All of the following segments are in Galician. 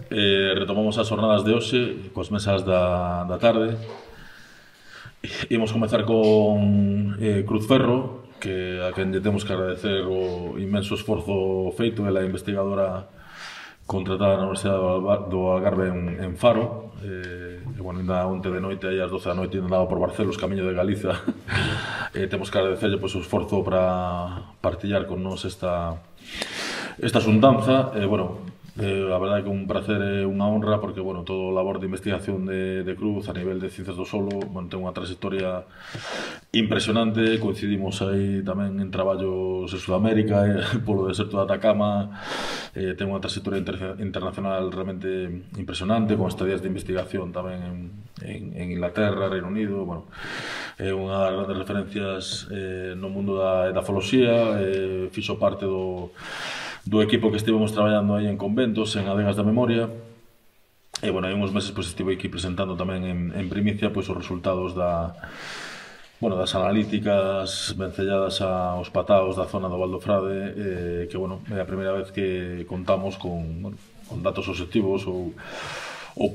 retomamos as jornadas de hoxe coas mesas da tarde. Imos comezar con Cruz Ferro, que a quen lle temos que agradecer o inmenso esforzo feito. Ela é investigadora contratada na Universidade do Algarve en Faro. Bueno, ainda onte de noite, aí ás 12 da noite, andaba por Barcelos, camiño de Galiza. Temos que agradecerlle o esforzo para partillar con nos esta xuntanza. Bueno, a verdade que un placer e unha honra, porque, bueno, todo o labor de investigación de Cruz a nivel de ciencias do solo, bueno, ten unha trayectoria impresionante. Coincidimos aí tamén en traballos en Sudamérica, polo deserto de Atacama. Ten unha trayectoria internacional realmente impresionante, con estadías de investigación tamén en Inglaterra, Reino Unido. Bueno, é unha das grandes referencias no mundo da edafoloxía. Fixo parte do equipo que estivemos traballando aí en conventos, en adegas da memoria. E, bueno, hai uns meses estive aquí presentando tamén en primicia os resultados das analíticas vencelladas aos pataos da zona do Val do Frade, que, bueno, é a primeira vez que contamos con datos obxectivos ou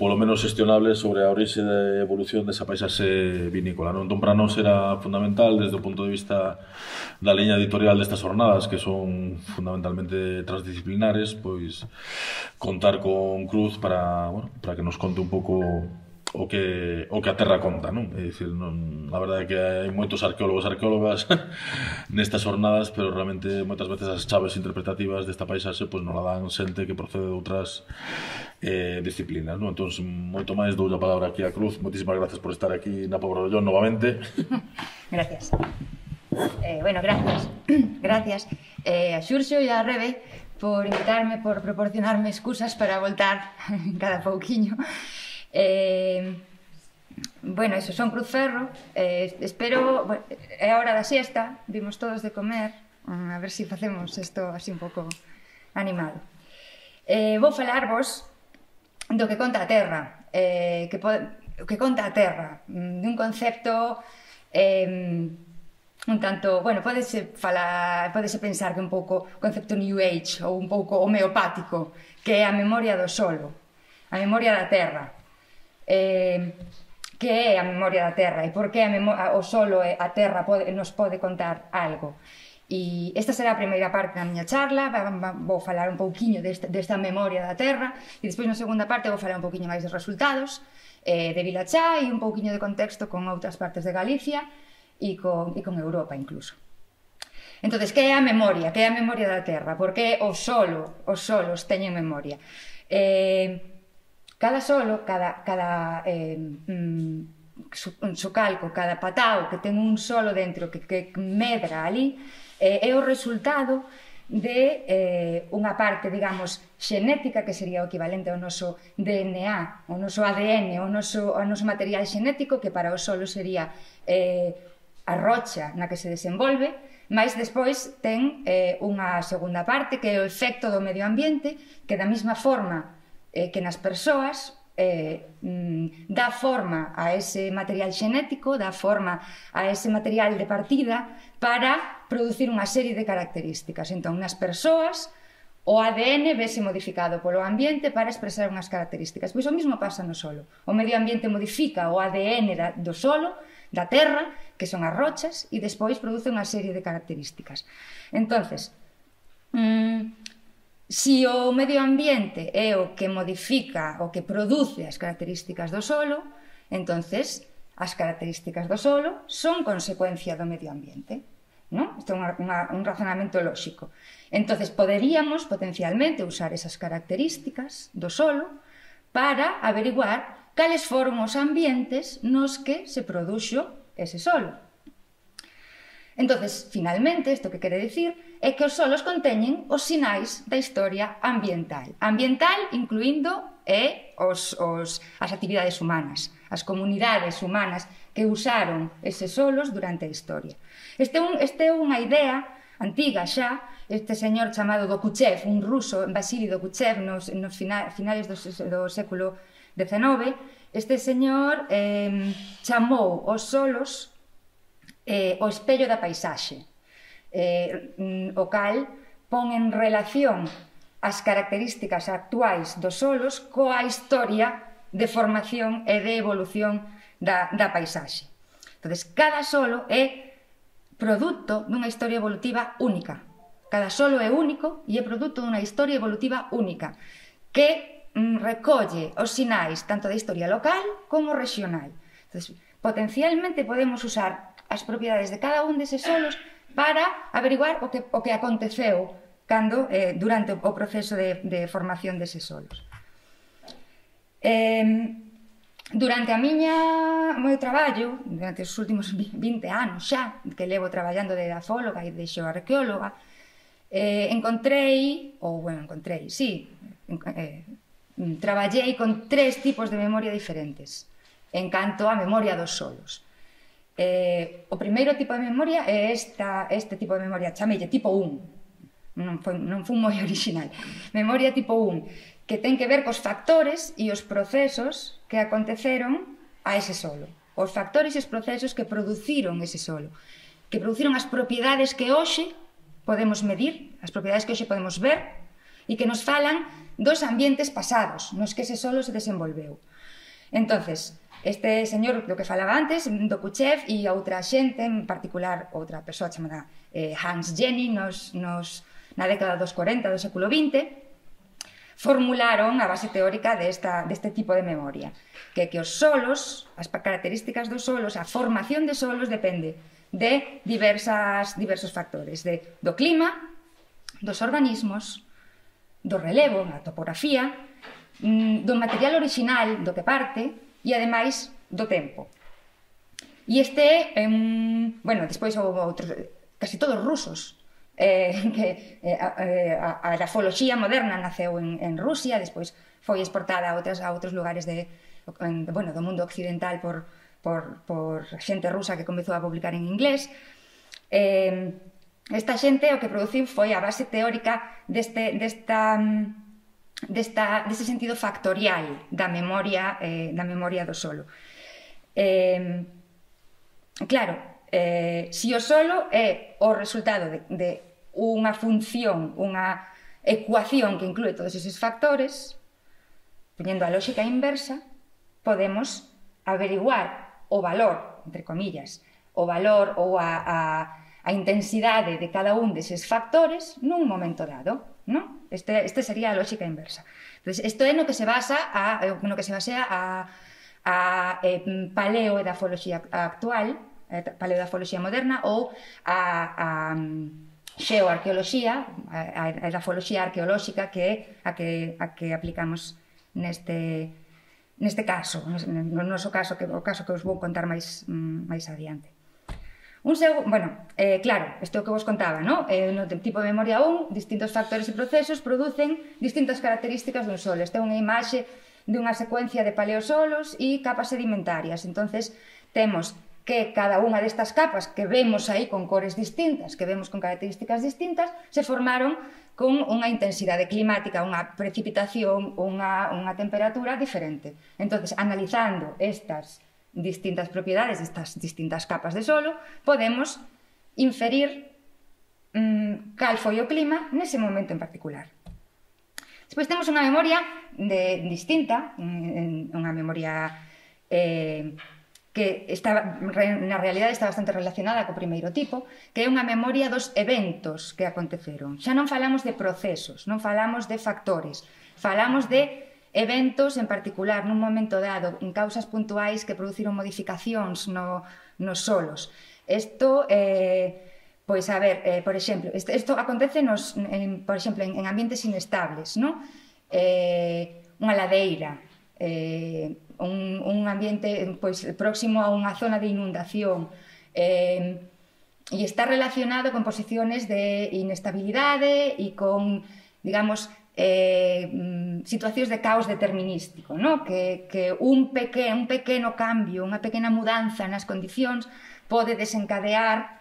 polo menos xestionables sobre a orixe e evolución desa paisaxe vinícola. Entón, para nós era fundamental, desde o punto de vista da liña editorial destas jornadas, que son fundamentalmente transdisciplinares, pois contar con Cruz para que nos conte un pouco o que a Terra conta, non? É dicir, a verdade é que hai moitos arqueólogos e arqueólogas nestas jornadas, pero realmente moitas veces as chaves interpretativas desta paisaxe non la dan xente que procede de outras disciplinas, non? Entón, moito máis, dou a palabra aquí a Cruz. Moitísimas gracias por estar aquí na Pobrollón novamente. Gracias. Bueno, gracias. Gracias a Xurxo e a Rebe por invitarme, por proporcionarme excusas para voltar cada pouquiño. Bueno, eso, son Cruz Ferro. Espero, é a hora da siesta, vimos todos de comer, a ver se facemos isto así un pouco animado. Vou falarvos do que conta a Terra, que conta a Terra, dun concepto un tanto, bueno, podese pensar que un pouco concepto New Age ou un pouco homeopático, que é a memoria do solo, a memoria da Terra. Que é a memoria da Terra e por que o solo e a Terra nos pode contar algo. E esta será a primeira parte da miña charla. Vou falar un pouquiño desta memoria da Terra e despois na segunda parte vou falar un pouquiño máis dos resultados de Vilachá e un pouquiño de contexto con outras partes de Galicia e con Europa incluso. Entón, que é a memoria? Que é a memoria da Terra? Por que os solos teñen memoria? Cada solo, cada socalco, cada patao que ten un solo dentro que medra ali, é o resultado de unha parte, digamos, xenética, que sería o equivalente ao noso DNA, ao noso ADN, ao noso material xenético, que para o solo sería a rocha na que se desenvolve, mas despois ten unha segunda parte, que é o efecto do medio ambiente, que da mesma forma que nas persoas dá forma a ese material xenético, dá forma a ese material de partida para producir unha serie de características. Entón, nas persoas, o ADN vese modificado polo ambiente para expresar unhas características. Pois o mesmo pasa no solo. O medio ambiente modifica o ADN do solo, da terra, que son as rochas, e despois produce unha serie de características. Entonces, si o medio ambiente é o que modifica, o que produce as características do solo, entonces as características do solo son consecuencia do medio ambiente, non? Isto é un razonamento lóxico. Entonces poderíamos potencialmente usar esas características do solo para averiguar cales foron os ambientes nos que se produxo ese solo. Entonces, finalmente, isto que quere dicir é que os solos conteñen os sinais da historia ambiental. Ambiental incluindo as actividades humanas, as comunidades humanas que usaron eses solos durante a historia. Este é unha idea antiga xa. Este señor chamado Dokuchev, un ruso, Vasily Dokuchev, nos finales do século XIX, este señor chamou os solos o espello da paisaxe, o cal pon en relación as características actuais dos solos coa historia de formación e de evolución da paisaxe. Entón, cada solo é produto dunha historia evolutiva única. Cada solo é único e é produto dunha historia evolutiva única que recolle os sinais tanto da historia local como regional. Entón, potencialmente podemos usar as propiedades de cada un deses solos para averiguar o que aconteceu durante o proceso de formación deses solos. Durante o meu traballo, durante os últimos 20 anos xa, que levo traballando de edafóloga e de xeoarqueóloga, traballei con 3 tipos de memoria diferentes en canto a memoria dos solos. O primeiro tipo de memoria é este tipo de memoria, chamelle tipo 1, non foi moi original, memoria tipo 1, que ten que ver cos factores e os procesos que aconteceron a ese solo, os factores e os procesos que produciron ese solo, que produciron as propiedades que hoxe podemos medir, as propiedades que hoxe podemos ver e que nos falan dos ambientes pasados nos que ese solo se desenvolveu. Entonces, este señor do que falaba antes, Dokuchev, e outra xente, en particular outra persoa chamada Hans Jenny, na década dos 40 do século XX, formularon a base teórica deste tipo de memoria, que os solos, as características dos solos, a formación de solos depende de diversos factores, do clima, dos organismos, do relevo, da topografía, do material original do que parte e, ademais, do tempo. E este é despois houve outros, casi todos rusos, a grafoloxía moderna naceu en Rusia, despois foi exportada a outros lugares do mundo occidental por xente rusa que comezou a publicar en inglés. Esta xente o que produciu foi a base teórica deste sentido factorial da memoria do solo. Claro, se o solo é o resultado de unha función, unha ecuación que inclúe todos eses factores, poñendo a lógica inversa, podemos averiguar o valor, entre comillas, o valor ou a intensidade de cada un deses factores nun momento dado, non? Este sería a lógica inversa. Entón, isto é no que se basea a paleoedafoloxía actual, paleoedafoloxía moderna, ou a xeoarqueoloxía, a edafoloxía arqueolóxica, que é a que aplicamos neste caso, no noso caso, o caso que os vou contar máis adiante. Claro, isto é o que vos contaba, no tipo de memoria 1, distintos factores e procesos producen distintas características dun solo. Esta é unha imaxe dunha secuencia de paleosolos e capas sedimentarias. Entonces, temos que cada unha destas capas que vemos aí con cores distintas, que vemos con características distintas, se formaron con unha intensidade climática, unha precipitación, unha temperatura diferente. Entonces, analizando estas distintas propiedades, estas distintas capas de solo, podemos inferir cal foi o clima nese momento en particular. Despois temos unha memoria distinta, unha memoria que na realidade está bastante relacionada co primeiro tipo, que é unha memoria dos eventos que aconteceron. Xa non falamos de procesos, non falamos de factores, falamos de eventos en particular nun momento dado, en causas puntuais que produciron modificacións nos solos. Isto, por exemplo, isto acontece por exemplo, en ambientes inestables, non? Unha ladeira, un ambiente próximo a unha zona de inundación, e está relacionado con posiciones de inestabilidade e con, digamos, situacións de caos determinístico, que un pequeno cambio, unha pequena mudanza nas condicións pode desencadear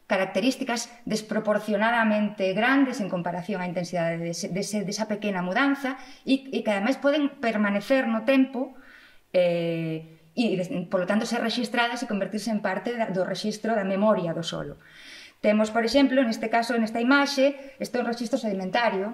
características desproporcionadamente grandes en comparación á intensidade desa pequena mudanza e que ademais poden permanecer no tempo e, polo tanto, ser rexistradas e convertirse en parte do rexistro da memoria do solo. Temos, por exemplo, neste caso, nesta imaxe, este é un rexistro sedimentario.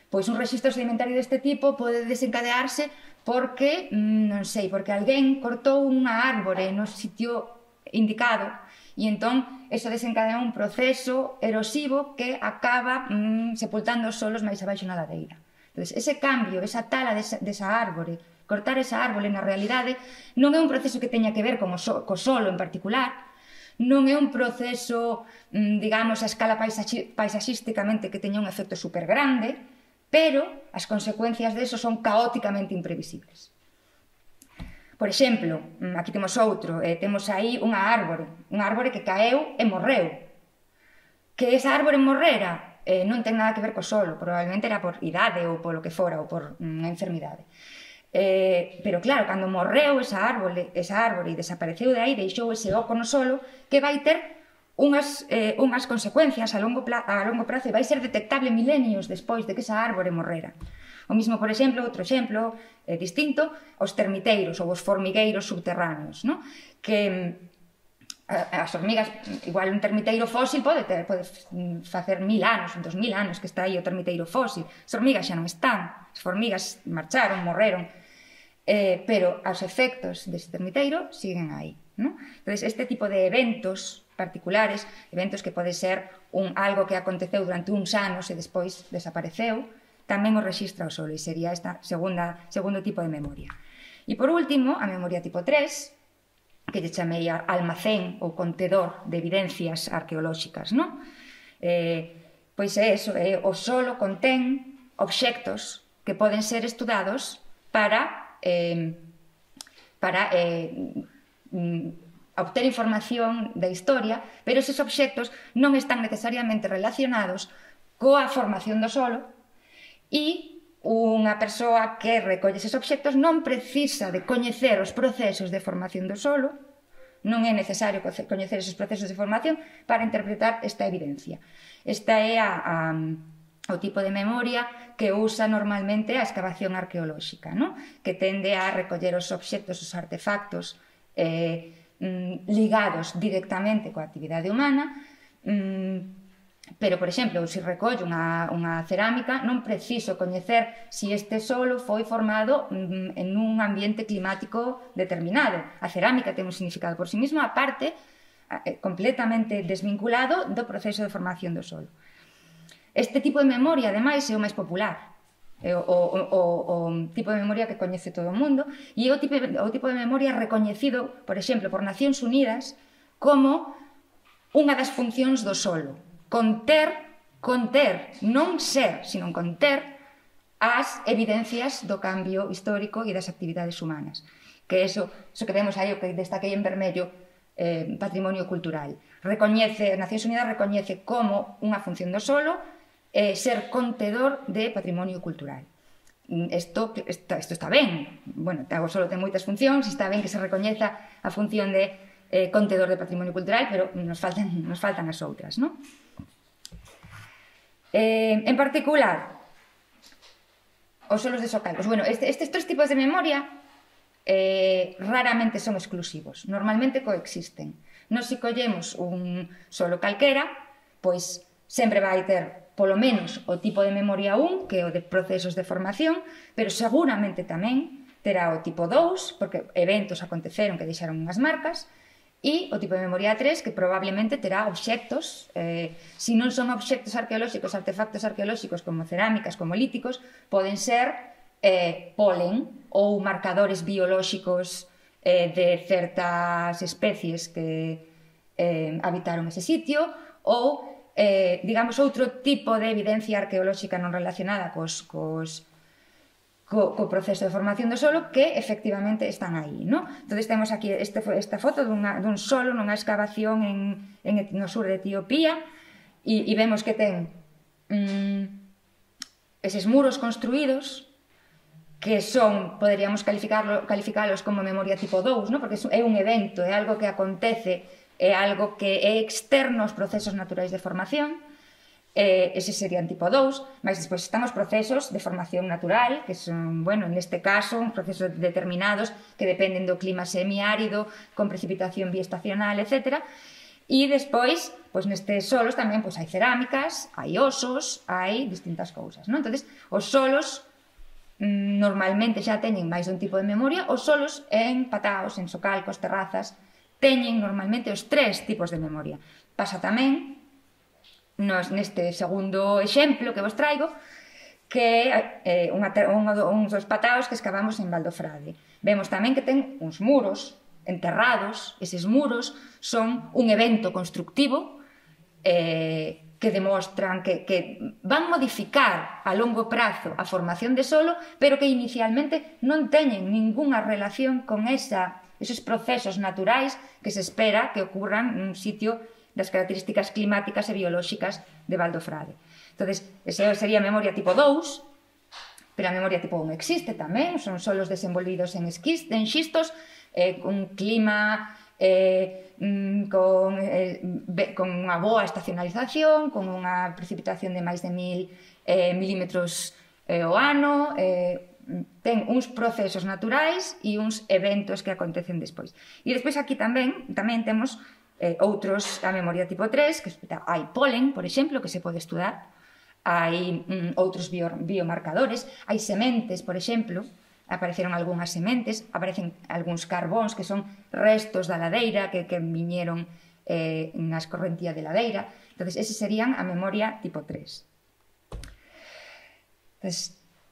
Pois un rexistro sedimentario deste tipo pode desencadearse porque, non sei, porque alguén cortou unha árbore no sitio indicado e entón eso desencadea un proceso erosivo que acaba sepultando os solos máis abaixo na ladeira. Entón, ese cambio, esa tala desa árbore, cortar esa árbore na realidade non é un proceso que teña que ver co solo en particular, non é un proceso, digamos, a escala paisaxísticamente que teña un efecto super grande, pero as consecuencias deso son caóticamente imprevisibles. Por exemplo, aquí temos outro, temos aí unha árbore que caeu e morreu. Que esa árbore morrera non ten nada que ver co solo, probablemente era por idade ou polo que fora, ou por unha enfermidade. Pero claro, cando morreu esa árbore e desapareceu de aí, deixou ese oco no solo, que vai ter unhas consecuencias a longo prazo e vai ser detectable milenios despois de que esa árbore morrera. O mismo, por exemplo, outro exemplo distinto, os termiteiros ou os formigueiros subterráneos, no? Que as hormigas, igual un termiteiro fósil pode facer 1000 anos, 2000 anos que está aí o termiteiro fósil. As hormigas xa non están, as formigas marcharon, morreron, pero os efectos dese termiteiro siguen aí, no? Entón, este tipo de eventos particulares, eventos que pode ser algo que aconteceu durante uns anos e despois desapareceu, tamén o rexistra o solo, e sería esta segundo tipo de memoria. E por último, a memoria tipo 3, que lle chamei almacén ou contedor de evidencias arqueolóxicas, non? Pois é eso, o solo contén obxectos que poden ser estudados para obter información da historia, pero eses obxectos non están necesariamente relacionados coa formación do solo e unha persoa que recolle eses obxectos non precisa de coñecer os procesos de formación do solo, non é necesario coñecer esos procesos de formación para interpretar esta evidencia. Esta é o tipo de memoria que usa normalmente a excavación arqueolóxica, no? Que tende a recoller os obxectos, os artefactos ligados directamente coa actividade humana, pero, por exemplo, se recollo unha cerámica, non preciso coñecer se este solo foi formado en un ambiente climático determinado. A cerámica ten un significado por sí mesma, aparte, completamente desvinculado do proceso de formación do solo. Este tipo de memoria, ademais, é o máis popular. É o tipo de memoria que coñece todo o mundo e é o tipo de memoria recoñecido, por exemplo, por Nacións Unidas como unha das funcións do solo. Conter, non ser, sino conter as evidencias do cambio histórico e das actividades humanas. Que eso que vemos aí, o que destaquei en vermello, patrimonio cultural. Nacións Unidas recoñece como unha función do solo ser contedor de patrimonio cultural. Isto está ben. Bueno, o solo ten moitas funcións, está ben que se recoñeza a función de contedor de patrimonio cultural, pero nos faltan as outras, non? En particular, os solos de Socalcos. Bueno, estes tres tipos de memoria raramente son exclusivos, normalmente coexisten. Nos, se collemos un solo calquera, pois sempre vai ter polo menos o tipo de memoria 1, que é o de procesos de formación, pero seguramente tamén terá o tipo 2, porque eventos aconteceron que deixaron unhas marcas, e o tipo de memoria 3, que probablemente terá obxectos, se non son obxectos arqueolóxicos, artefactos arqueolóxicos como cerámicas, como líticos, poden ser polen ou marcadores biolóxicos de certas especies que habitaron ese sitio, ou, digamos, outro tipo de evidencia arqueolóxica non relacionada co proceso de formación do solo que efectivamente están aí, no? Entón, temos aquí esta foto dun solo nunha excavación no sur de Etiopía e vemos que ten eses muros construídos que poderíamos calificalos como memoria tipo 2, no? Porque é un evento, é algo que acontece, é algo que é externo aos procesos naturais de formación. Ese serían tipo 2, mas despois están os procesos de formación natural, que son, bueno, neste caso, uns procesos determinados que dependen do clima semiárido, con precipitación biestacional, etc. E despois, pois nestes solos tamén pois hai cerámicas, hai osos, hai distintas cousas, non? Entonces, os solos normalmente xa teñen máis dun tipo de memoria. Os solos en pataos, en socalcos, terrazas, teñen normalmente os 3 tipos de memoria. Pasa tamén neste segundo exemplo que vos traigo, que é uns dos pataos que escavamos en Valdofrade. Vemos tamén que ten uns muros enterrados. Eses muros son un evento constructivo que demostran que van modificar a longo prazo a formación de solo, pero que inicialmente non teñen ningunha relación con esos procesos naturais que se espera que ocurran nun sitio das características climáticas e biolóxicas de Valdofrade. Entón, esa sería a memoria tipo 2, pero a memoria tipo 1 existe tamén, son solos desenvolvidos en xistos, un clima con unha boa estacionalización, con unha precipitación de máis de 1000 milímetros ao ano, ten uns procesos naturais e uns eventos que acontecen despois. E despois aquí tamén temos outros, a memoria tipo 3, que hai polen, por exemplo, que se pode estudar, hai outros biomarcadores, hai sementes, por exemplo, apareceron algunhas sementes, aparecen algúns carbóns que son restos da ladeira que viñeron na escorrentía de ladeira. Entón, eses serían a memoria tipo 3. Entón,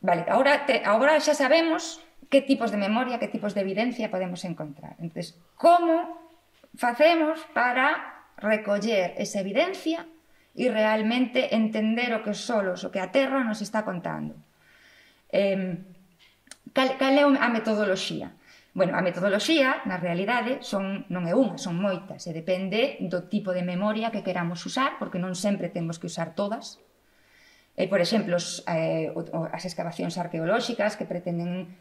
vale, agora xa sabemos que tipos de memoria, que tipos de evidencia podemos encontrar. Entón, como facemos para recoller esa evidencia e realmente entender o que os solos, o que a Terra nos está contando? Cal é a metodoloxía? Bueno, a metodoloxía, na realidade, non é unha, son moitas, e depende do tipo de memoria que queramos usar, porque non sempre temos que usar todas. Por exemplo, as excavacións arqueolóxicas que pretenden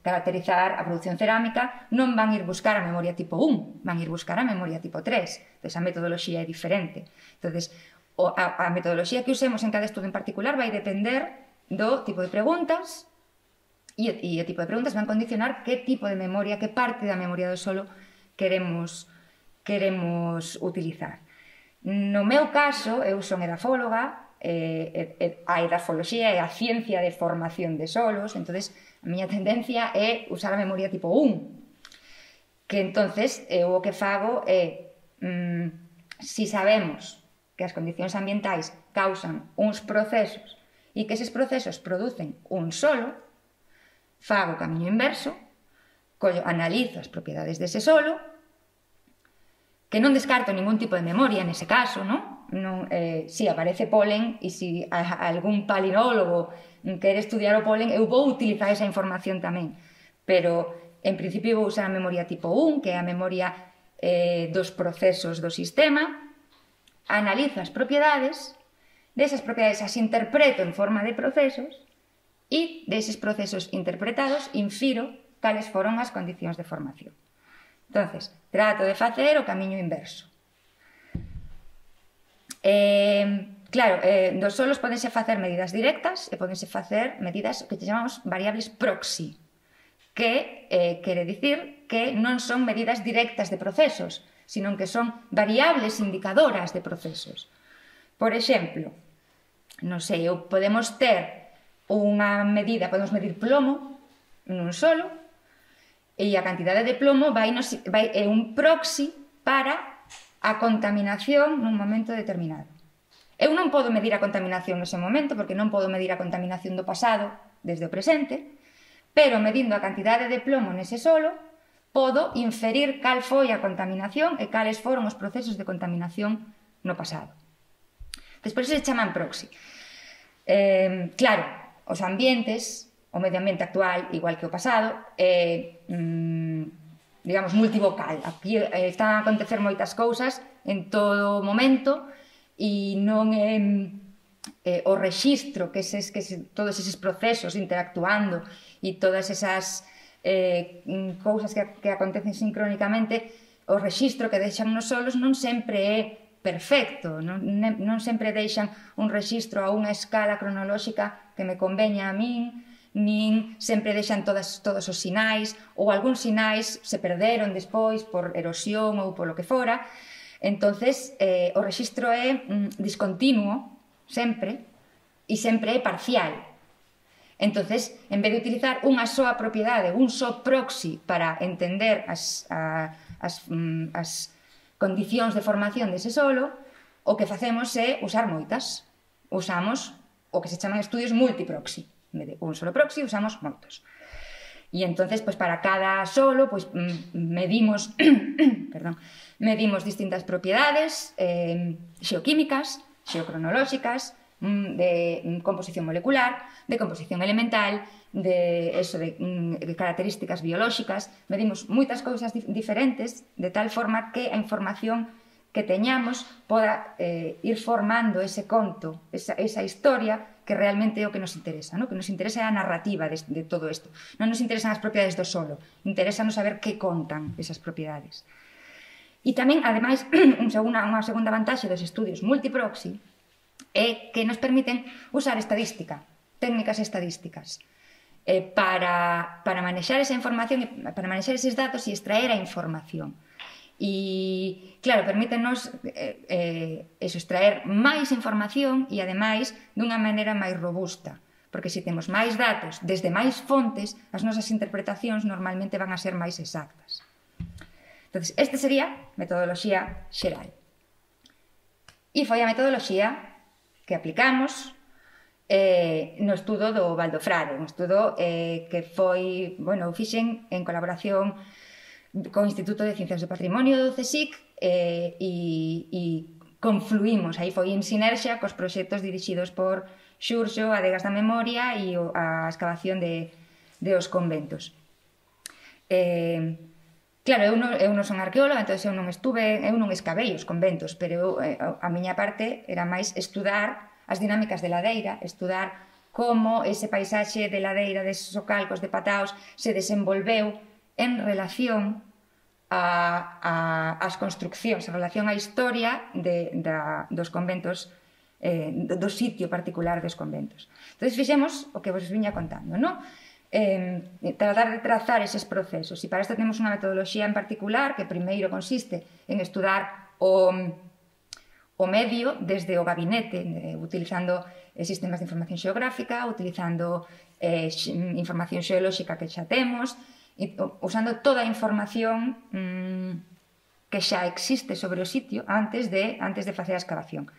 caracterizar a produción cerámica non van ir buscar a memoria tipo 1, van ir buscar a memoria tipo 3. Entón, a metodoloxía é diferente. Entón, a metodoloxía que usemos en cada estudo en particular vai depender do tipo de preguntas, e o tipo de preguntas van condicionar que tipo de memoria, que parte da memoria do solo queremos utilizar. No meu caso, eu son edafóloga, a edafoloxía é a ciencia de formación de solos, entonces a miña tendencia é usar a memoria tipo 1, que entonces eu o que fago é, si sabemos que as condicións ambientais causan uns procesos e que eses procesos producen un solo, fago o camiño inverso, analizo as propiedades dese solo, que non descarto ningún tipo de memoria nese caso, non? Si aparece polen e si algún palinólogo quere estudiar o polen, eu vou utilizar esa información tamén, pero en principio vou usar a memoria tipo 1, que é a memoria dos procesos do sistema, analizo as propiedades, desas propiedades as interpreto en forma de procesos, e deses procesos interpretados infiro cales foron as condicións de formación. Entón, trato de facer o camiño inverso. Claro, dos solos podense facer medidas directas e podense facer medidas que chamamos variables proxy, que quere dicir que non son medidas directas de procesos, sino que son variables indicadoras de procesos. Por exemplo, non sei, podemos ter unha medida, podemos medir plomo nun solo, e a cantidade de plomo é un proxy para a contaminación nun momento determinado. Eu non podo medir a contaminación nese momento, porque non podo medir a contaminación do pasado desde o presente, pero medindo a cantidade de plomo nese solo, podo inferir cal foi a contaminación e cales foron os procesos de contaminación no pasado. Despois se chaman proxy. Claro, os ambientes, o medio ambiente actual, igual que o pasado, é, digamos, multivocal. Aquí están a acontecer moitas cousas en todo momento e non é o rexistro que todos eses procesos interactuando e todas esas cousas que acontecen sincrónicamente, o rexistro que deixan nos solos non sempre é perfecto, non sempre deixan un rexistro a unha escala cronolóxica que me conveña a min, nin sempre deixan todos os sinais, ou algúns sinais se perderon despois por erosión ou polo que fora. Entonces, o rexistro é discontinuo, sempre, e sempre é parcial. Entonces, en vez de utilizar unha soa propiedade, un só proxy para entender as condicións de formación dese solo, o que facemos é usar moitas. Usamos o que se chaman estudios multiproxy. En vez de un solo proxy, usamos moitos. E entonces, pues, para cada solo, pues, medimos medimos distintas propiedades xeoquímicas, xeocronolóxicas, de composición molecular, de composición elemental, de características biolóxicas. Medimos moitas cousas diferentes, de tal forma que a información que teñamos poda ir formando ese conto, esa historia que realmente é o que nos interesa, ¿no? Que nos interesa é a narrativa de todo isto. Non nos interesan as propiedades do solo, interesanos saber que contan esas propiedades. E tamén, ademais, unha segunda vantaxe dos estudios multiproxy é que nos permiten usar estadística, técnicas estadísticas, para manexar esa información, para manexar eses datos e extraer a información. E, claro, permítenos extraer máis información e, ademais, dunha maneira máis robusta, porque se temos máis datos desde máis fontes, as nosas interpretacións normalmente van a ser máis exactas. Entón, este sería metodoloxía xeral. E foi a metodoloxía que aplicamos no estudo do Val do Frade, un estudo que foi, bueno, fixen en colaboración co Instituto de Ciencias do Patrimonio do CSIC e confluímos, aí foi en sinerxia cos proxectos dirixidos por Xurxo, Adegas da Memoria e a excavación de os conventos. Claro, eu non son arqueóloga, entón eu non escavei os conventos, pero a miña parte era máis estudar as dinámicas de ladeira, estudar como ese paisaxe de ladeira, deses socalcos de Pataos, se desenvolveu en relación ás construccións, en relación á historia dos conventos, do sitio particular dos conventos. Entón, fixemos o que vos viña contando, non? Tratar de trazar eses procesos, e para isto temos unha metodoloxía en particular que primeiro consiste en estudar o medio desde o gabinete, utilizando sistemas de información xeográfica, utilizando información xeolóxica que xa temos, usando toda a información que xa existe sobre o sitio antes de facer a excavación.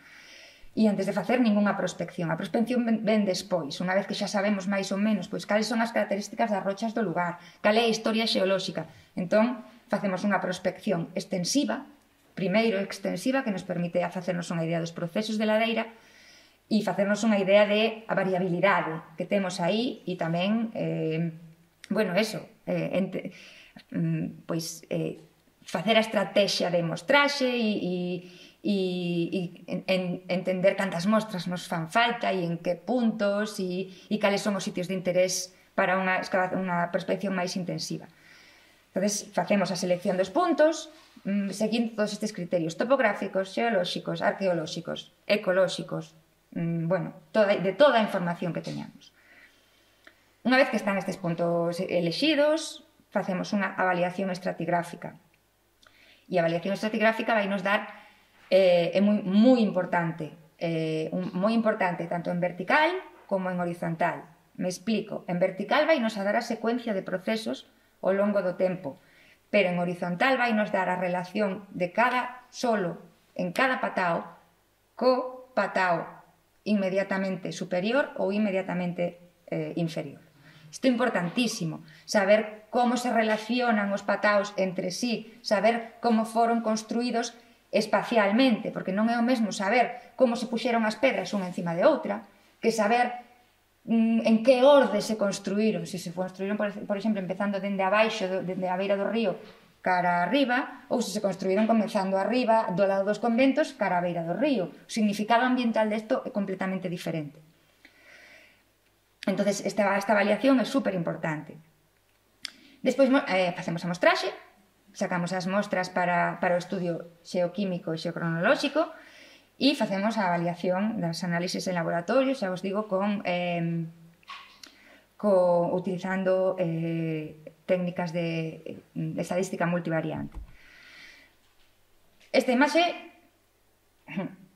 E antes de facer ningunha prospección. A prospección ven despois, unha vez que xa sabemos máis ou menos pois cales son as características das rochas do lugar, cal é a historia xeolóxica. Entón, facemos unha prospección extensiva, primeiro extensiva, que nos permite facernos unha idea dos procesos de ladeira e facernos unha idea de a variabilidade que temos aí e tamén, bueno, eso, pois facer a estrategia de mostraxe e entender cantas mostras nos fan falta e en que puntos e cales son os sitios de interés para unha prospección máis intensiva. Entón, facemos a selección dos puntos seguindo todos estes criterios topográficos, xeolóxicos, arqueolóxicos, ecolóxicos, bueno, de toda a información que teñamos. Unha vez que están estes puntos elexidos, facemos unha avaliación estratigráfica. E a avaliación estratigráfica vai nos dar, é moi importante, tanto en vertical como en horizontal. Me explico. En vertical vai nos dar a secuencia de procesos ao longo do tempo, pero en horizontal vai nos dar a relación de cada solo en cada patao co patao inmediatamente superior ou inmediatamente inferior. Isto é importantísimo, saber como se relacionan os pataos entre sí, saber como foron construídos espacialmente, porque non é o mesmo saber como se puxeron as pedras unha encima de outra, que saber en que orde se construíron, se construíron, por exemplo, empezando dende abaixo, dende a beira do río cara arriba, ou se construíron comezando arriba, do lado dos conventos, cara a beira do río. O significado ambiental desto é completamente diferente. Entón, esta avaliación é super importante. Despois facemos a mostraxe, sacamos as mostras para o estudio xeoquímico e xeocronolóxico e facemos a avaliación das análisis en laboratorio, xa vos digo, utilizando técnicas de estadística multivariante. Esta imaxe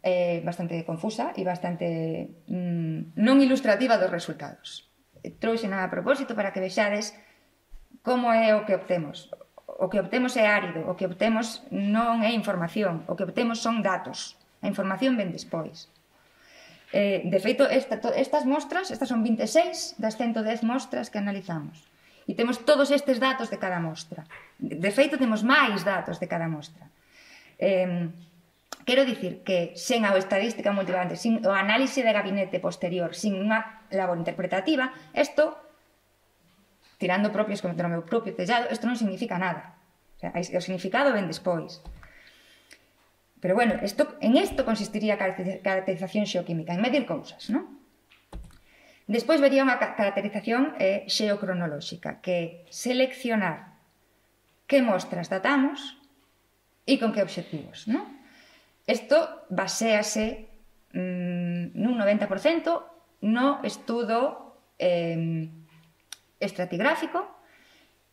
é bastante confusa e bastante non ilustrativa dos resultados. Trouxena a propósito para que vexades como é o que obtemos. O que obtemos é árido, o que obtemos non é información, o que obtemos son datos. A información ven despois. De feito, estas mostras, estas son 26 das 110 mostras que analizamos. E temos todos estes datos de cada mostra. De feito, temos máis datos de cada mostra. Quero dicir que sen a estadística multivariante, sin o análise de gabinete posterior, sin unha labor interpretativa, isto, tirando propios como o meu propio tellado, isto non significa nada. O significado ven despois. Pero bueno, en isto consistiría a caracterización xeoquímica, en medir cousas, non? Despois vería unha caracterización xeocronolóxica, que é seleccionar que mostras datamos e con que obxectivos, non? Isto baséase nun 90% no estudo estratigráfico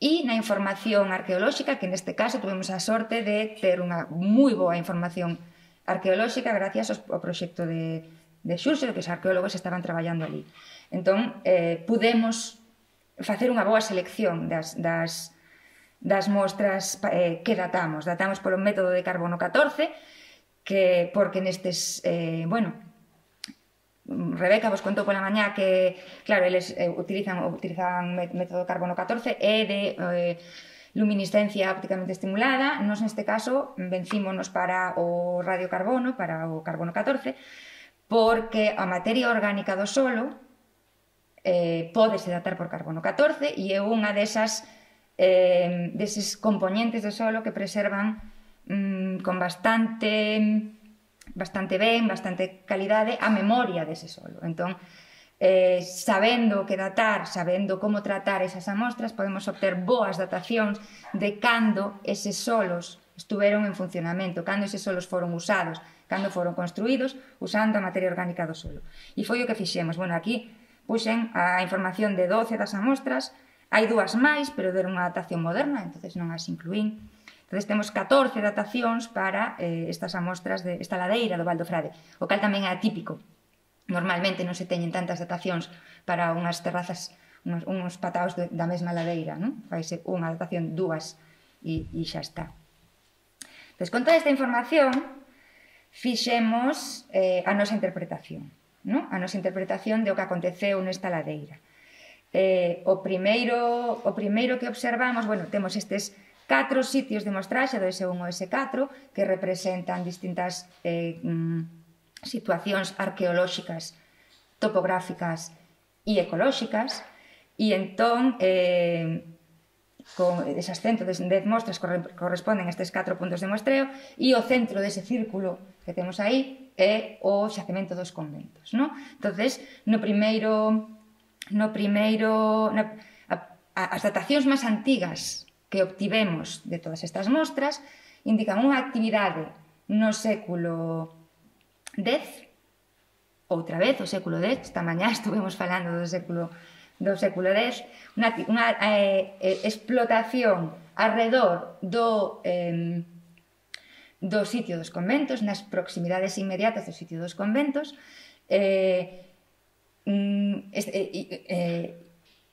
e na información arqueolóxica, que neste caso tuvemos a sorte de ter unha moi boa información arqueolóxica gracias ao proxecto de Xurxo, que os arqueólogos estaban traballando ali. Entón, pudemos facer unha boa selección das mostras que datamos. Datamos polo método de carbono 14, porque nestes, Rebeca vos contou pola mañá que, claro, eles utilizan método carbono 14 e de luminiscencia ópticamente estimulada. Nos neste caso vencímonos para o radiocarbono, para o carbono 14, porque a materia orgánica do solo pódese datar por carbono 14 e é unha deses componentes do solo que preservan con bastante calidade a memoria dese solo. Entón, sabendo que datar, sabendo como tratar esas amostras, podemos obter boas datacións de cando eses solos estuveron en funcionamento, cando eses solos foron usados, cando foron construídos, usando a materia orgánica do solo. E foi o que fixemos. Bueno, aquí puxen a información de 12 das amostras, hai dúas máis, pero deron unha datación moderna, entonces non as incluín. Entón, temos 14 datacións para estas amostras desta ladeira do Val do Frade, o cal tamén é atípico. Normalmente non se teñen tantas datacións para unhas terrazas, uns pataos da mesma ladeira, non? Faise unha datación, dúas, e xa está. Entón, con toda esta información, fixemos a nosa interpretación, non? A nosa interpretación de o que aconteceu nesta ladeira. O primeiro que observamos, temos estes 4 sitios de mostraxe do S1 ao S4 que representan distintas situacións arqueolóxicas, topográficas e ecolóxicas, e entón con esas 110 mostras corresponden a estes 4 puntos de muestreo, e o centro dese círculo que temos aí é o xacemento dos conventos, non? Entonces, as datacións máis antigas que obtivemos de todas estas mostras indican unha actividade no século X, outra vez o século X, esta mañá estuvemos falando do século X, unha explotación arredor do sitio dos conventos, nas proximidades inmediatas do sitio dos conventos,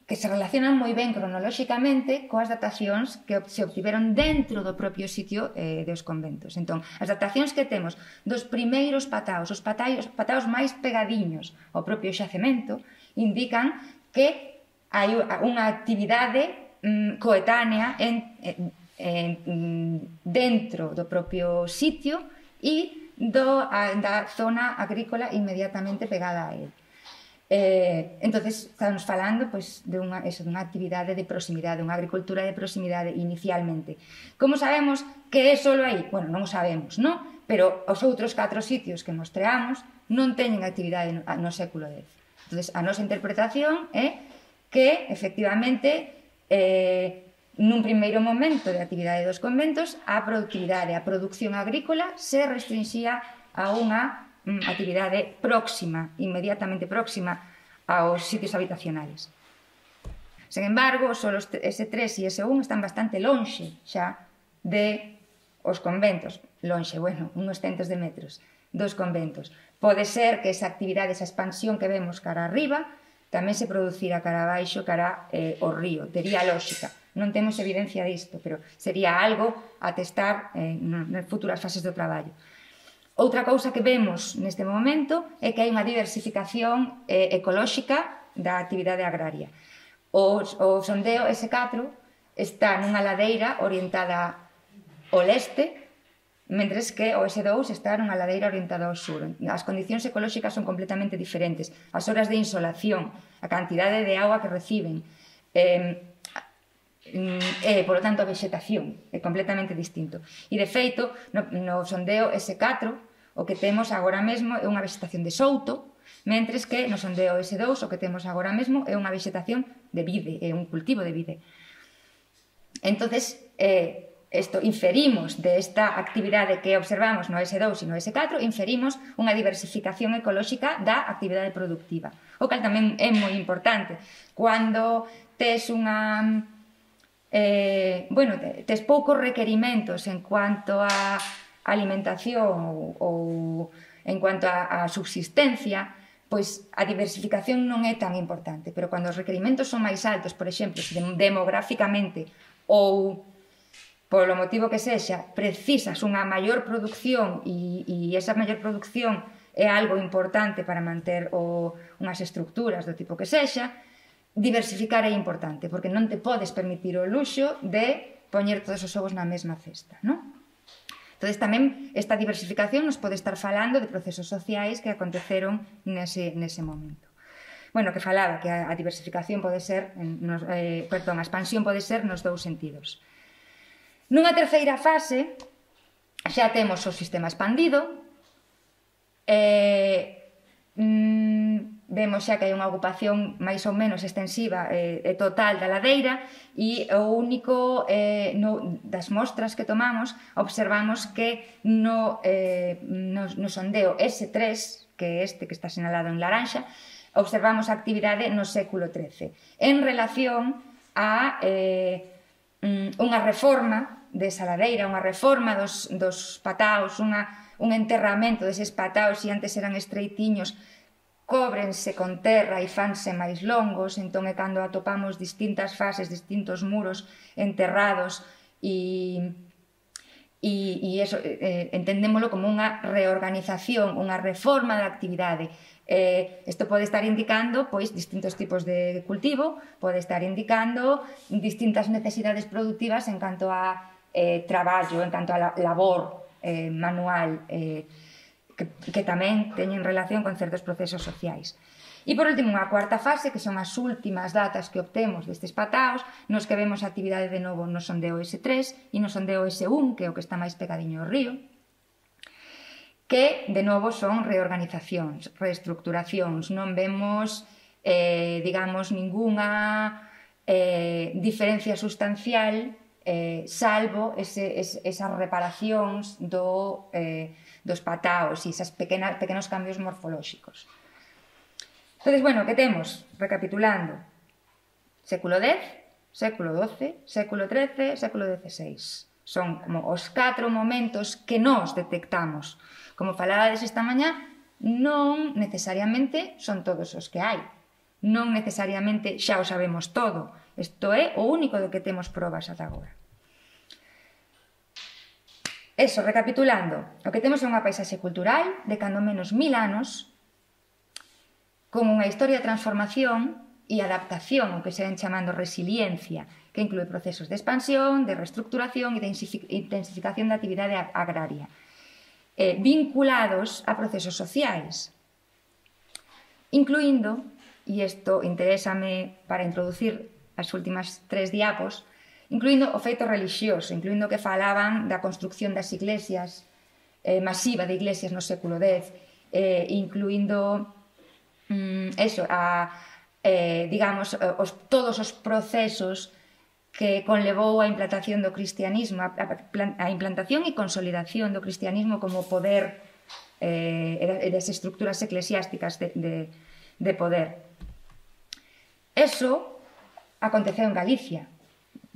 que se relacionan moi ben cronolóxicamente coas datacións que se obtiveron dentro do propio sitio dos conventos. Entón, as datacións que temos dos primeiros pataos, os pataos máis pegadiños ao propio xacemento, indican que hai unha actividade coetánea dentro do propio sitio e da zona agrícola inmediatamente pegada a ele. Entonces, estamos falando de unha actividade de proximidade, unha agricultura de proximidade inicialmente. Como sabemos que é solo aí? Bueno, non o sabemos, non? Pero os outros 4 sitios que mostreamos non teñen actividade no século X. Entonces, a nosa interpretación é que, efectivamente, nun primeiro momento de actividade dos conventos, a productividade, a produción agrícola se restringía a unha actividade próxima, inmediatamente próxima aos sitios habitacionales. Sen embargo, só os S3 e S1 están bastante lonxe xa de os conventos, lonxe, bueno, uns centos de metros dos conventos. Pode ser que esa actividade, esa expansión que vemos cara arriba, tamén se producira cara abaixo, cara ao río. Tería lógica. Non temos evidencia disto, pero sería algo a testar nas futuras fases do traballo. Outra cousa que vemos neste momento é que hai unha diversificación ecolóxica da actividade agraria. O sondeo S4 está nunha ladeira orientada ao leste, mentres que o S2 está nunha ladeira orientada ao sur. As condicións ecolóxicas son completamente diferentes. As horas de insolación, a cantidade de auga que reciben, por lo tanto, a vegetación é completamente distinto. E, de feito, no sondeo S4, o que temos agora mesmo é unha vegetación de souto, mentres que no sondeo S2 o que temos agora mesmo é unha vegetación de vide, é un cultivo de vide. Entonces, inferimos desta actividade que observamos no S2 e no S4, inferimos unha diversificación ecolóxica da actividade productiva, o cal tamén é moi importante. Cando tes unha... tes poucos requerimentos en cuanto a alimentación ou en cuanto a subsistencia, pois a diversificación non é tan importante, pero cando os requerimentos son máis altos, por exemplo, demográficamente ou polo motivo que sexa, precisas unha maior producción e esa maior producción é algo importante para manter unhas estructuras do tipo que sexa, diversificar é importante, porque non te podes permitir o luxo de poñer todos os ovos na mesma cesta, non? Entón, tamén esta diversificación nos pode estar falando de procesos sociais que aconteceron nese momento. Bueno, que falaba que a diversificación pode ser, a expansión pode ser nos dous sentidos. Nunha terceira fase, xa temos o sistema expandido, vemos xa que hai unha ocupación máis ou menos extensiva e total da ladeira e o único das mostras que tomamos observamos que no sondeo S3, que é este que está sinalado en laranxa, observamos a actividade no século XIII en relación a unha reforma desa ladeira, unha reforma dos pataos, un enterramento deses pataos, e antes eran estreitiños, cóbrense con terra e fanse máis longos, entón é cando atopamos distintas fases, distintos muros enterrados e eso entendémolo como unha reorganización, unha reforma da actividade. Isto pode estar indicando pois distintos tipos de cultivo, pode estar indicando distintas necesidades productivas en canto a traballo, en canto a labor manual, que tamén teñen relación con certos procesos sociais. E, por último, unha cuarta fase, que son as últimas datas que obtemos destes pataos, nos que vemos a actividade de novo no sondeo S3 e no sondeo S1, que é o que está máis pegadiño ao río, que, de novo, son reorganizacións, reestructuracións. Non vemos, digamos, ningunha diferencia sustancial, salvo esas reparacións dos pataos e esas pequenos cambios morfolóxicos. Entón, bueno, que temos? Recapitulando, século X, século XII, século XIII, século XVI. Son como os 4 momentos que nós detectamos. Como falabades esta mañá, non necesariamente son todos os que hai. Non necesariamente xa o sabemos todo. Isto é o único do que temos probas ata agora. Eso, recapitulando, o que temos é unha paisaxe cultural de cando menos 1000 anos, con unha historia de transformación e adaptación, o que se ven chamando resiliencia, que inclúe procesos de expansión, de reestructuración e de intensificación da actividade agraria, vinculados a procesos sociais, incluindo, e isto interésame para introducir as últimas 3 diapos, incluindo o feito religioso, incluindo que falaban da construcción das iglesias, masiva de iglesias no século X, incluindo digamos, todos os procesos que conlevou a implantación do cristianismo, a implantación e consolidación do cristianismo como poder e das estructuras eclesiásticas de poder. Eso aconteceu en Galicia.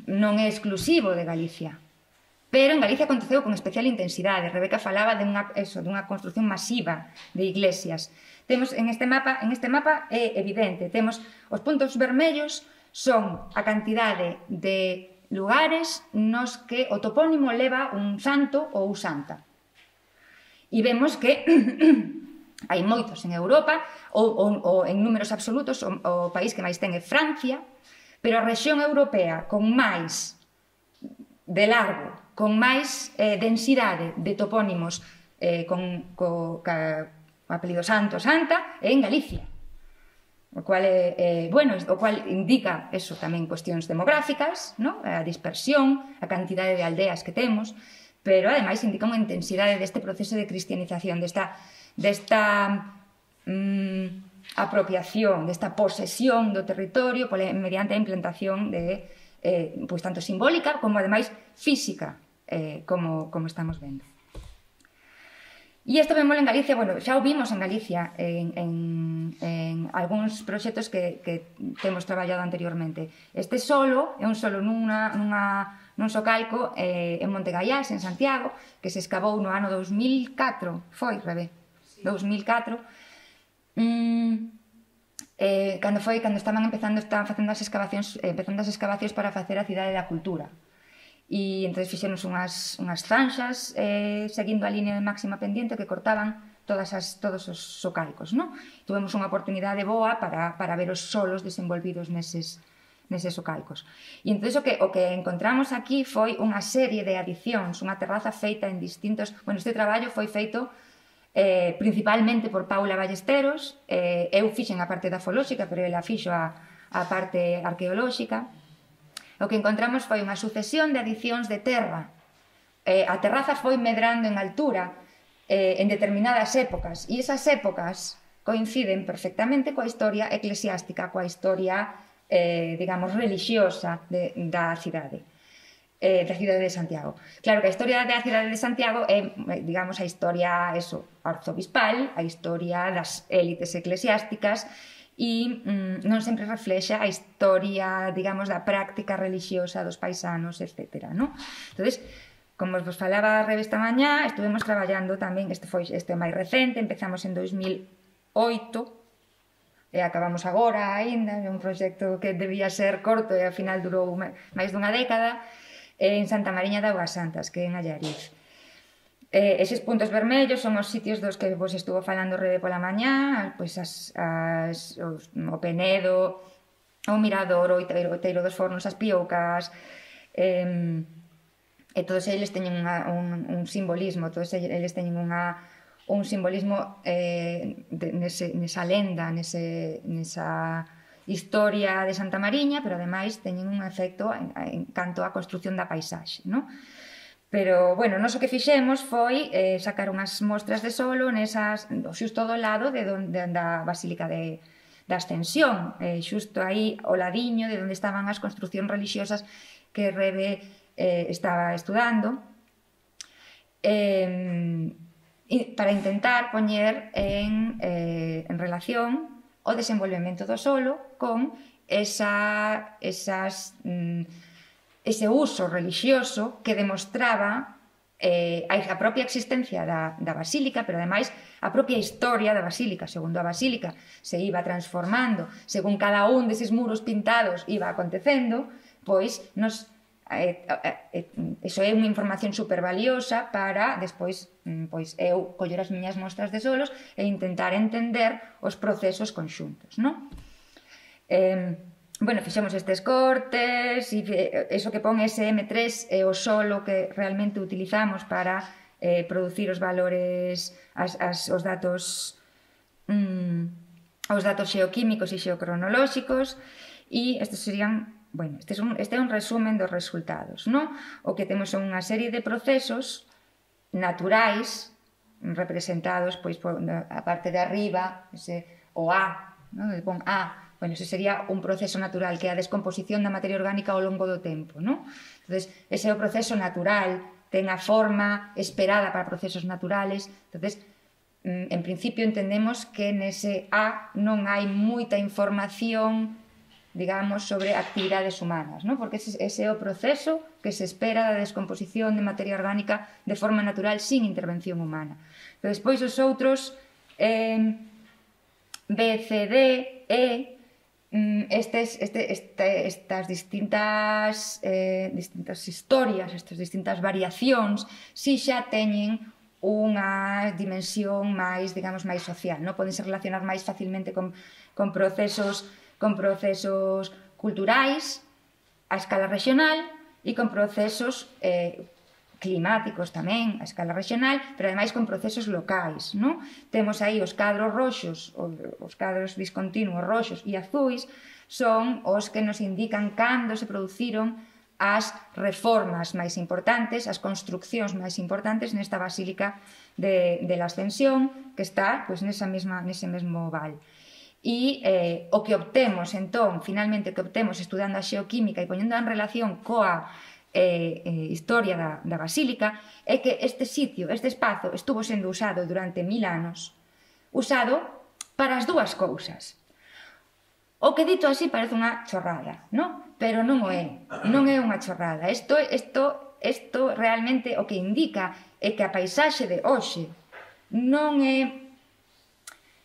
Non é exclusivo de Galicia. Pero en Galicia aconteceu con especial intensidade. Rebeca falaba dunha construción masiva de iglesias. Temos en este mapa é evidente, temos os puntos vermellos son a cantidade de lugares nos que o topónimo leva un santo ou santa. E vemos que hai moitos en Europa, ou en números absolutos, o país que máis ten é Francia, pero a rexión europea con máis de largo, con máis densidade de topónimos con apelido santo, santa, é en Galicia. O cual indica eso tamén cuestións demográficas, a dispersión, a cantidade de aldeas que temos, pero ademais indica unha intensidade deste proceso de cristianización, desta apropiación, desta posesión do territorio mediante a implantación de tanto simbólica como ademais física, como estamos vendo. E isto vemos en Galicia, xa o vimos en Galicia en algúns proxectos que temos traballado anteriormente. Este solo é un solo nun socalco en Montegallás, en Santiago, que se escavou no ano 2004, foi, Rebe? 2004. Cando estaban facendo as excavacións para facer a Cidade da Cultura. E entón fixemos unhas zanxas seguindo a línea de máxima pendiente que cortaban todos os socalcos. Tuvemos unha oportunidade boa para ver os solos desenvolvidos neses socalcos. E entón o que encontramos aquí foi unha serie de adicións, unha terraza feita en distintos... Este traballo foi feito principalmente por Paula Ballesteros. Eu fixen a parte dafolóxica, pero ela fixo a parte arqueolóxica. O que encontramos foi unha sucesión de adicións de terra. A terraza foi medrando en altura en determinadas épocas, e esas épocas coinciden perfectamente coa historia eclesiástica, coa historia, digamos, religiosa da cidade de Santiago. Claro que a historia da cidade de Santiago é, digamos, a historia arzobispal, a historia das élites eclesiásticas, e non sempre reflexa a historia, digamos, da práctica religiosa dos paisanos, etc. Entón, como vos falaba a Rebe esta mañá, estuvemos traballando tamén, este é máis recente, empezamos en 2008 e acabamos agora aínda, é un proxecto que debía ser corto e ao final durou máis dunha década, en Santa Mariña de Augas Santas, que é en Allariz. Eses puntos vermellos son os sitios dos que vos estuvo falando Rebe pola mañá, o Penedo, o Mirador, o Outeiro dos Fornos, as Pioucas, e todos eles teñen un simbolismo, todos eles teñen un simbolismo nesa lenda, nesa historia de Santa Mariña, pero ademais teñen un efecto en canto á construción da paisaxe, Pero, noso que fixemos foi sacar unhas mostras de solo xusto do lado da Basílica da Ascensión, xusto aí ao ladiño de onde estaban as construcións religiosas que Rebe estaba estudando, para intentar poñer en relación o desenvolvemento do solo con ese uso religioso que demostraba a propia existencia da basílica, pero ademais a propia historia da basílica. Segundo a basílica se iba transformando, según cada un deses muros pintados iba acontecendo, pois eso é unha información supervaliosa para despois eu coller as miñas mostras de solos e intentar entender os procesos conxuntos, fixemos estes cortes, e eso que pon SM3 é o solo que realmente utilizamos para producir os valores, os datos xeoquímicos e xeocronolóxicos, e estes serían, este é un resumen dos resultados, O que temos son unha serie de procesos naturais representados por a parte de arriba, o A, pon A. Ese sería un proceso natural, que é a descomposición da materia orgánica ao longo do tempo. Entón, ese é o proceso natural, ten a forma esperada para procesos naturales. Entón, en principio entendemos que nese A non hai moita información digamos, sobre actividades humanas, ¿no? Porque ese é o proceso que se espera da descomposición de materia orgánica de forma natural sin intervención humana. Pero despois os outros B, C, D, E, estas distintas historias, estas distintas variacións, si xa teñen unha dimensión máis, digamos, máis social, non? Podense relacionar máis facilmente con procesos culturais a escala regional e con procesos climáticos tamén a escala regional, pero ademais con procesos locais, non? Temos aí os cadros roxos, os cadros discontinuos roxos e azuis, son os que nos indican cando se produciron as reformas máis importantes, as construccións máis importantes nesta basílica de la Ascensión, que está nese mesmo val. E o que obtemos, entón, finalmente, o que obtemos estudando a xeoquímica e poñendo en relación coa historia da basílica, é que este sitio, este espazo, estuvo sendo usado durante 1000 anos, usado para as dúas cousas. O que dito así parece unha chorrada, non? Pero non o é, non é unha chorrada. Isto realmente o que indica é que a paisaxe de hoxe non é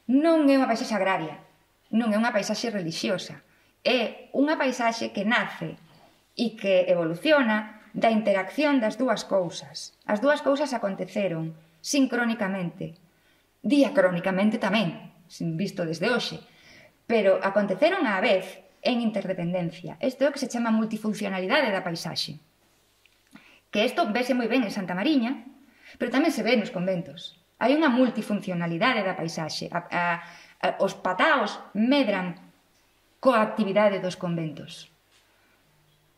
unha paisaxe agraria, non é unha paisaxe religiosa, é unha paisaxe que nace e que evoluciona da interacción das dúas cousas. As dúas cousas aconteceron sincrónicamente, diacrónicamente tamén, visto desde hoxe, pero aconteceron á vez en interdependencia. Isto é o que se chama multifuncionalidade da paisaxe. Que isto vese moi ben en Santa Mariña, pero tamén se ve nos conventos. Hai unha multifuncionalidade da paisaxe. Os pataos medran coa actividade dos conventos.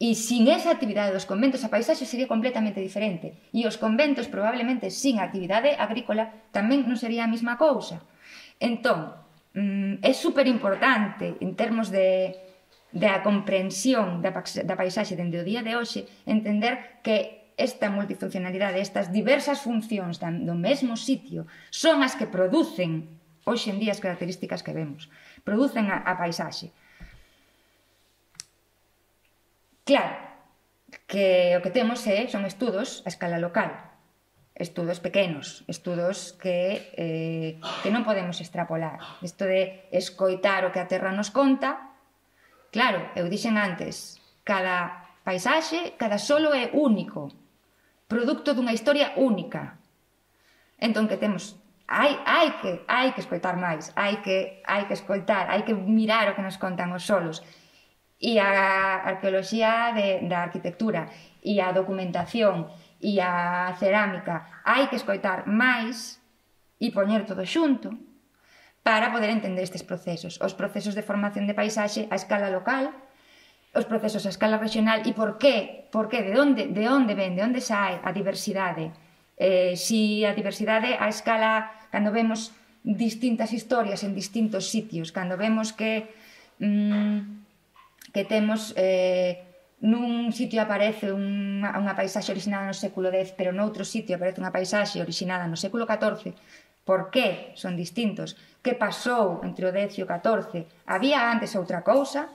E sin esa actividade dos conventos a paisaxe sería completamente diferente. E os conventos probablemente sin actividade agrícola tamén non sería a mesma cousa. Entón, é superimportante en termos da comprensión da paisaxe dende o día de hoxe entender que esta multifuncionalidade, estas diversas funcións do mesmo sitio son as que producen hoxe en día as características que vemos, producen a paisaxe. Claro, que o que temos son estudos a escala local, estudos pequenos, estudos que non podemos extrapolar. Isto de escoitar o que a Terra nos conta, claro, eu dixen antes, cada paisaxe, cada solo é único, producto dunha historia única. Entón, que temos? Hai que escoitar máis, hai que escoitar, hai que mirar o que nos contan os solos. E a arqueoloxía da arquitectura, e a documentación, e a cerámica, hai que escoitar máis e poñer todo xunto para poder entender estes procesos. Os procesos de formación de paisaxe a escala local, os procesos a escala regional, e por qué? De onde ven, de onde sae a diversidade? Si a diversidade a escala, cando vemos distintas historias en distintos sitios, cando vemos que temos nun sitio aparece unha paisaxe originada no século X, pero noutro sitio aparece unha paisaxe originada no século XIV. Por que son distintos? Que pasou entre o X e o XIV? Había antes outra cousa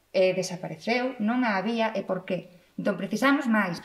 e desapareceu, non a había, e por qué? Entón, precisamos máis.